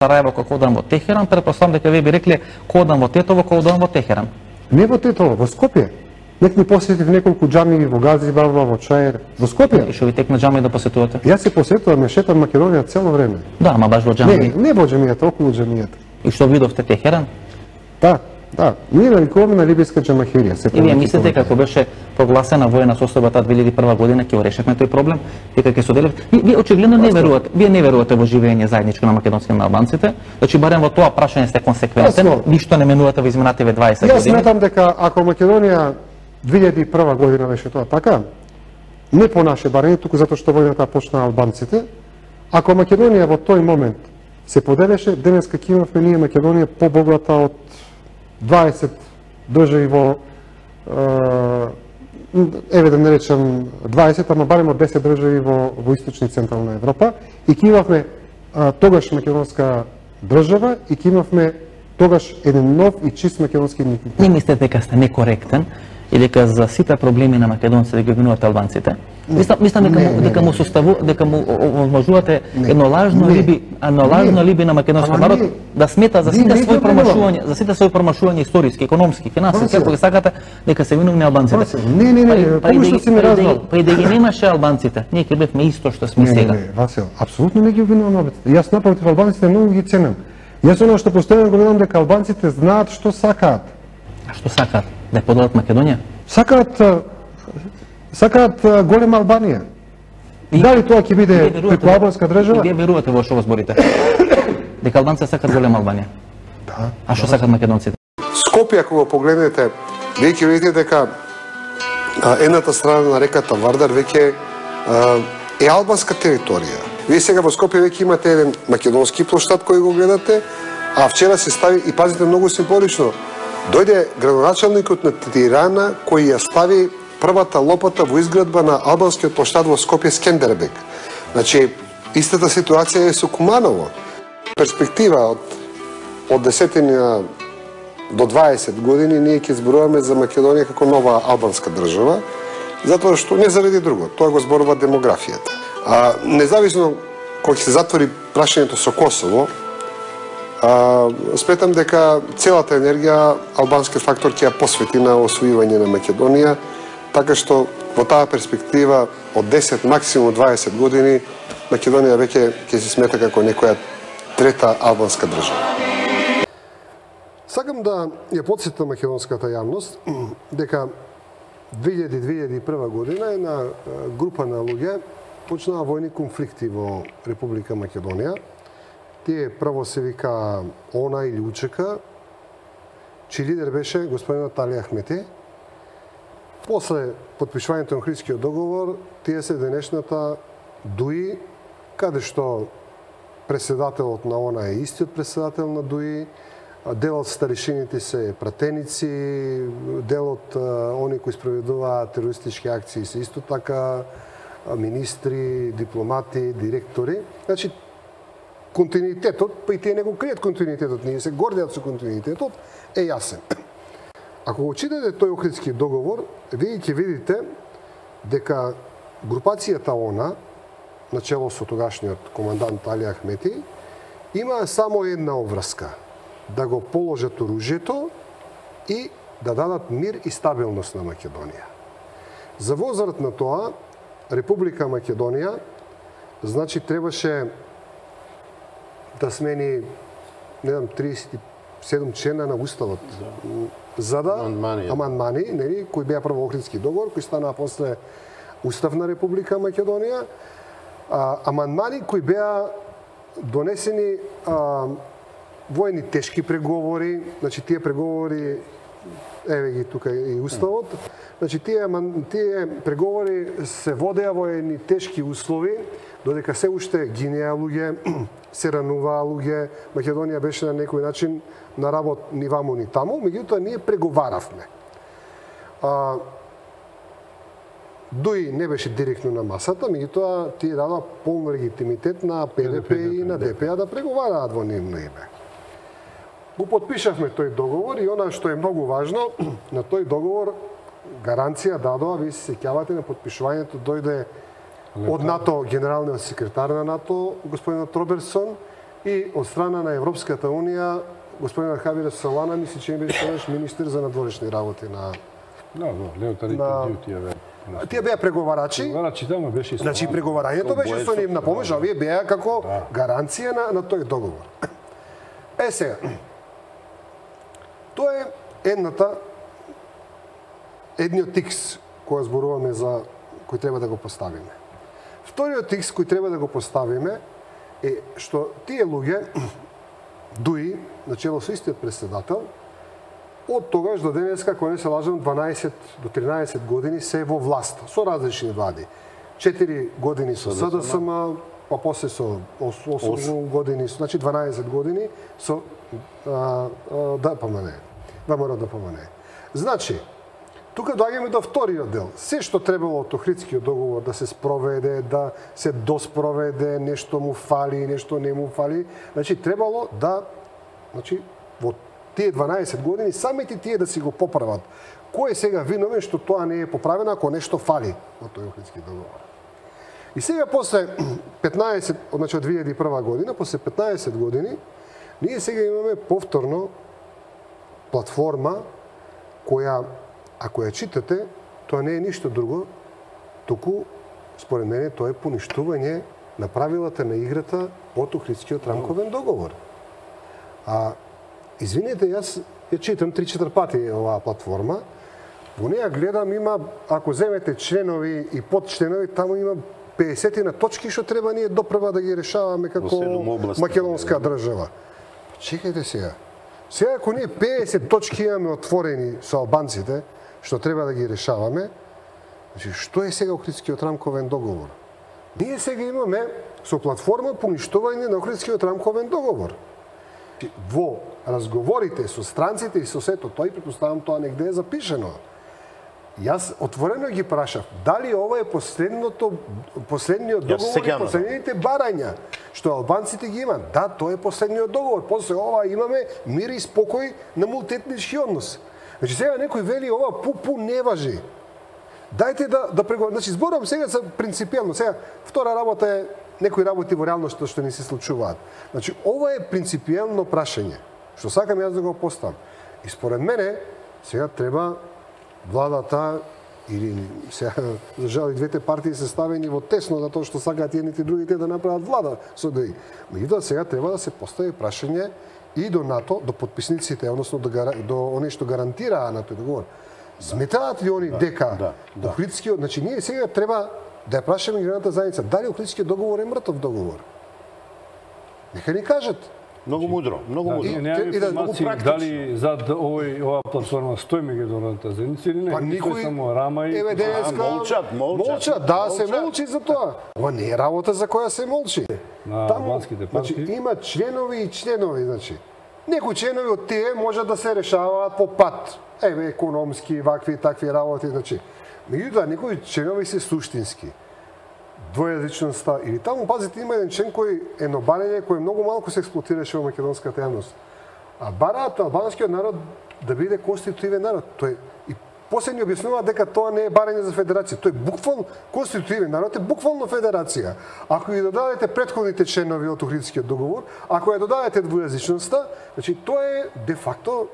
Сараево кога одам во Техеран, претпоставам дека вие би рекле кога одам во Тетово, кога одам во Техеран. Не во Тетово, во Скопје. Нек ми посетив неколку џамии во Газибаба, во Чаир, во Скопје. И што ви текна џамии да посетувате? Јас се посетувам, шетам Македонија цело време. Да, ама баш во џамии. Не во џамијата, околу џамијата. И што видовте Техеран? Да. Ние навикуваме на либијска џамахирија. И вие мислите како беше прогласена воена состојба таа 2001 година ќе го решевме тој проблем, дека ќе соделев. Вие очигледно не верувате, не верувате во живење заедничко на македонците и на албанците. Значи барем во тоа прашање сте консеквентен, ништо не менувате во изминативе 20 години. Јас сметам дека ако Македонија 2001 година беше тоа така, не по наше барење, туку затоа што војната почна албанците, ако Македонија во тој момент се поделеше, денеска ќе имавме ние Македонија побогата од 20 држави во еве да не речам 20, ама барем од 10 држави во источна и централна Европа и ќе имавме тогаш македонска држава и ќе имавме тогаш еден нов и чист македонски идентитет. Не мислите дека сте некоректен и дека за сите проблеми на македонците ги обвинувате албанците? Мислам дека му овозможувате едно лажно алиби на македонскиот народ да смета за сите своји промашувања историски, економски, финансиски, ако ги сакате дека се виновни албанците. Не, помишно си ме разбрал. Па и да ги немаше албанците, ние ќе бевме исто што сме сега. Не, Васил, апсолутно не ги обвинувам албанците. Јас напротив албанците многу ги ценам. Јас оно што постојано го гледам дека албанците знаат што сакаат. А што сакаат? Да подадат Македонија? Сакаат голема Албанија. Дали тоа ќе биде преку албанска држава? Вие верувате во што го зборите? Дека албанците сакаат голема Албанија? Да. А што сакаат македонците? Скопје, ако го погледнете, вие ќе видите дека едната страна на реката Вардар веќе е албанска територија. Вие сега во Скопје веќе имате еден македонски плоштад кој го гледате, а вчера се стави, и пазите многу символично, дојде градоначалникот на Тирана кој ја стави првата лопата во изградба на албанскиот плоштад во Скопје Скендербек. Значи, истата ситуација е со Куманово. Перспектива од 10 до 20 години ние ќе зборуваме за Македонија како нова албанска држава, затоа што не заради друго, тоа го зборува демографијата. Независно кога ќе се затвори прашањето со Косово, сметам дека целата енергија албански фактор ќе ја посвети на освојување на Македонија, така што во таа перспектива од 10 максимум 20 години Македонија веќе ќе се смета како некоја трета албанска држава. Сакам да ја потсетам македонската јавност дека 2001 година една група на луѓе почнаа војни конфликти во Република Македонија. Тие прво се вика ОНА или УЧК, чиј лидер беше господинот Али Ахмети. После потпишувањето на Охридскиот договор, тие се денешната ДУИ, каде што преседателот на ОНА е истиот преседател на ДУИ, дел од старешините се пратеници, дел од они кои спроведуваат терористички акции се исто така министри, дипломати, директори. Значи, континуитетот, па и тие не го кријат континуитетот, ние се гордеат со континуитетот, е јасен. Ако го читате тој Охридски договор, вие ќе видите дека групацијата ОНА, начело со тогашниот командант Али Ахмети, има само една обврска – да го положат оружјето и да дадат мир и стабилност на Македонија. За возраст на тоа, Република Македонија, значи, требаше да смени, не знам, 37 члена на Уставот, за да амандмани, нели, кои беа прво Охридски договор, кои станаа после Устав на Република Македонија, амандмани кои беа донесени во едни тешки преговори, значи тие преговори, еве ги тука и Уставот, значи тие преговори се водеа во едни тешки услови, додека се уште гинеа луѓе, се рануваа луѓе, Македонија беше на некој начин на работ ни ваму ни таму, меѓутоа ние преговаравме. ДУИ не беше директно на масата, меѓутоа тие дадоа полн легитимитет на ПДП и на ДПА да преговараат во нивно име. Го потпишавме тој договор и она што е многу важно, на тој договор гаранција дадоа, вие се сеќавате на потпишувањето дојде од НАТО, генералниот секретар на НАТО, господинот Робертсон, и од страна на Европската унија господин Архавире Солана мисли че беше тогаш министер за надворешни работи на Леотарите тие беа. Тие беа преговарачи. Преговарачи тamo беше. Значи преговарањето беше со нивна помош, а овие беа како гаранција на тој договор. Сега. Тоа е едниот тикс кој зборуваме за кој треба да го поставиме. Вториот тикс кој треба да го поставиме е што тие луѓе дуи начело со истиот председател од тогаш до денеска, кога не се лажам, 12 до 13 години се во власт, со различни влади. 4 години со СДСМ, па после со 8 години, значи 12 години со ДПМН, ВМРО ДПМН. Значи, тука доаѓаме до вториот дел. Се што требало од Охридскиот договор да се спроведе, да се доспроведе, нешто му фали, нешто не му фали, значи требало да, значи во тие 12 години самите тие да си го поправат. Кој е сега виновен што тоа не е поправено ако нешто фали во тој Охридски договор? И сега после 15, значи од 2001 година, после 15 години, ние сега имаме повторно платформа која, ако ја читате, тоа не е ништо друго, туку, според мене, тоа е поништување на правилата на играта од Охридскиот рамковен договор. Извинете, јас ја читам 3-4 пати оваа платформа. Во неја гледам, има, ако земете членови и подчленови, таму има 50 на точки што треба ние допрва да ги решаваме како македонска држава. Чекајте сега. Сега ако ние 50 точки имаме отворени со албанците, што треба да ги решаваме, значи што е сега Охридскиот рамковен договор? Ние сега имаме со платформа поништување на Охридскиот рамковен договор. Во разговорите со странците и со сето тој, претпоставам тоа негде е запишено. Јас отворено ги прашав, дали ова е последниот договор и последните барања, што албанците ги имаат. Да, тоа е последниот договор. После ова имаме мир и спокој на мултиетнички однос. Значи сега некој вели ова пу не важи. Дајте да преговараме. Значи зборувам сега за принципиелно. Сега втора работа е некои работи во реалноста што не се случуваат. Значи ова е принципиелно прашање што сакам јас да го поставам. И според мене сега треба владата или сега за жал и двете партии се ставени во тесно за тоа што сакаат едните и другите да направат влада со ДИ. Меѓутоа сега треба да се постави прашање и до НАТО, до потписниците, односно до оние што гарантираа на тој договор. Сметаат ли они дека Охридскиот, значи ние сега треба да ја прашаме меѓународната заедница, дали Охридскиот договор е мртов договор? Нека ни кажат. Многу мудро, многу мудро. И да дали зад оваа платформа стои меѓународната заедница или не? Па никој само рама и молчат, да, се молчи за тоа. Ова не е работа за која се молчи. На албанските партии. Значи има членови и членови, значи. Некои членови од тие можат да се решаваат по пат. Економски, вакви и такви работи, значи. Меѓутоа, некои членови се суштински. Двојазичноста или таму, пазите, има еден член кој е нобарење кој многу малку се експлоатираше во македонската јавност. А бараат албанскиот народ да биде конститутивен народ. Тој и после ни објаснува дека тоа не е барање за федерација. Тој буквално конститутивен народ е буквално федерација. Ако ги додадете претходните членови од Охридскиот договор, ако ја додадете двојазичноста, значи тоа е де факто,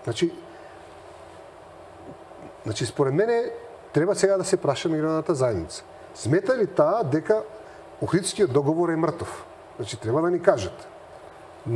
значи според мене треба сега да се праша меѓународната заедница. Смета ли таа дека Охридскиот договор е мртов? Значи треба да ни кажат.